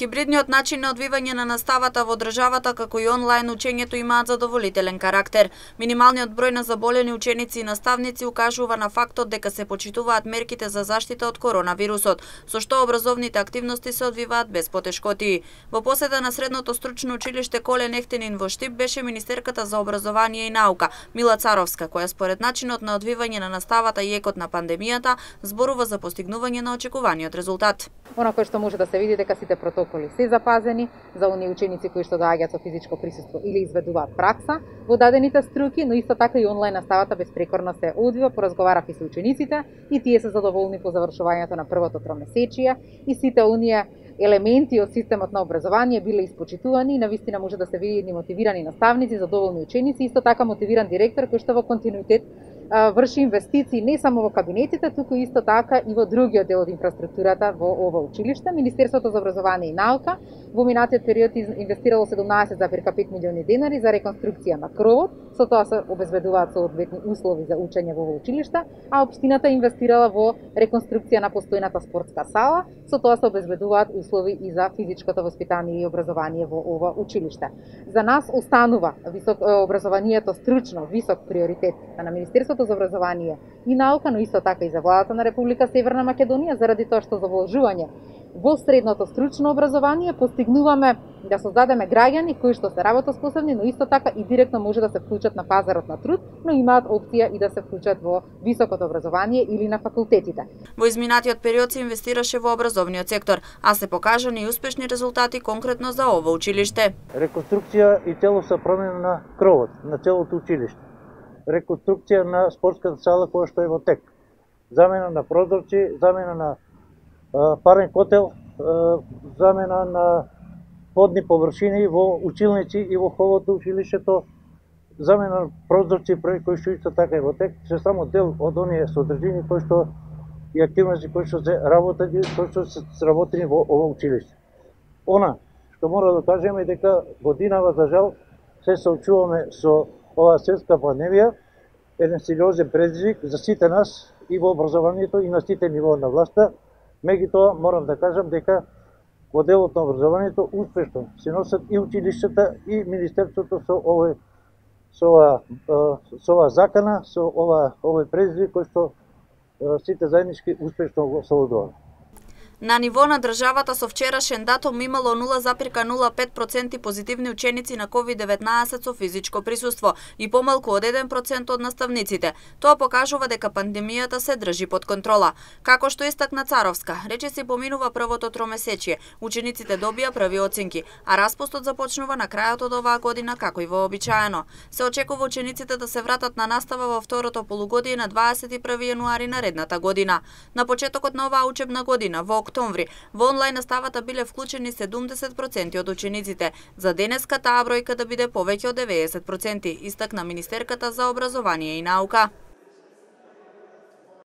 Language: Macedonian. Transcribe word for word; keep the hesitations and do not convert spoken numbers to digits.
Хибридниот начин на одвивање на наставата во државата како и онлайн учењето имаат задоволителен карактер. Минималниот број на заболени ученици и наставници укажува на фактот дека се почитуваат мерките за заштита од коронавирусот, со што образовните активности се одвиваат без потешкоти. Во посета на Средното стручно училиште Колен Ефтинин во Штип беше министерката за образование и наука Мила Царовска, која според начинот на одвивање на наставата и екот на пандемијата зборува за постигнување на очекуваниот резултат. Она кој што може да се види дека сите протоколи се запазени за оние ученици кои што доаѓаат со физичко присуство или изведуваат пракса во дадените струки, но исто така и онлайн наставата безпрекорно се одвива, поразговарав и со учениците и тие се задоволни по завршувањето на првото тромесечие и сите оние елементи од системот на образование биле испочитувани и навистина може да се види едни мотивирани наставници, задоволни ученици, исто така мотивиран директор кој што во континуитет врши инвестиции не само во кабинетите, туку исто така и во другиот дел од инфраструктурата во ова училиште. Министерството за образование и наука во минатиот период инвестирало седумнаесет зарез пет милиони денари за реконструкција на кровот, со тоа се обезбедуваат соодветни услови за учење во ова училиште, а општината инвестирала во реконструкција на постојната спортска сала, со тоа се обезбедуваат услови и за физичкото воспитание и образование во ова училиште. За нас останува висок образованието стручно висок приоритет на Министерството за образование и наука, но исто така и за владата на Република Северна Македонија, заради тоа што за вложување во средното стручно образование постигнуваме да создадеме граѓани кои што се работоспособни, но исто така и директно може да се вклучат на пазарот на труд, но имаат опција и да се вклучат во високото образование или на факултетите. Во изминатиот период се инвестираше во образовниот сектор, а се покажани и успешни резултати конкретно за ова училиште. Реконструкција и целосна промена на кровот на целото училиште. Реконструкција на спортската сала која што е во тек. Замена на прозорци, замена на а, парен котел, а, замена на подни површини во училници и во холот училиштето, замена на прозорци кои што исто така е во тек, се само дел од оние содржини кои што и активности кои што се работени, кои што се сработени во ова училиште. Она што мора да кажеме дека годинава за жал се соочуваме со ова светска пандемија, еден сериозен предизвик за сите нас и во образованието и на сите нивоа на власта. Меѓутоа морам да кажам дека во делот на образованието успешно се носат и училиштата и министерството со овој со ова со ова закана, со ова овој предизвик кој што сите заеднички успешно го совладуваме. На ниво на државата со вчерашен датум имало нула зарез нула пет проценти позитивни ученици на ковид деветнаесет со физичко присуство и помалку од еден процент од наставниците. Тоа покажува дека пандемијата се држи под контрола. Како што истакна Царовска, речиси поминува првото тромесечие, учениците добија први оценки, а распустот започнува на крајот од оваа година како и вообичаено. Се очекува учениците да се вратат на настава во второто полугодие на дваесет и први јануари наредната година. На почетокот на оваа учебна година во октомври, во онлайн наставата биле вклучени седумдесет проценти од учениците. За денеска таа бројка да биде повеќе од деветдесет проценти, истакна министерката за образование и наука.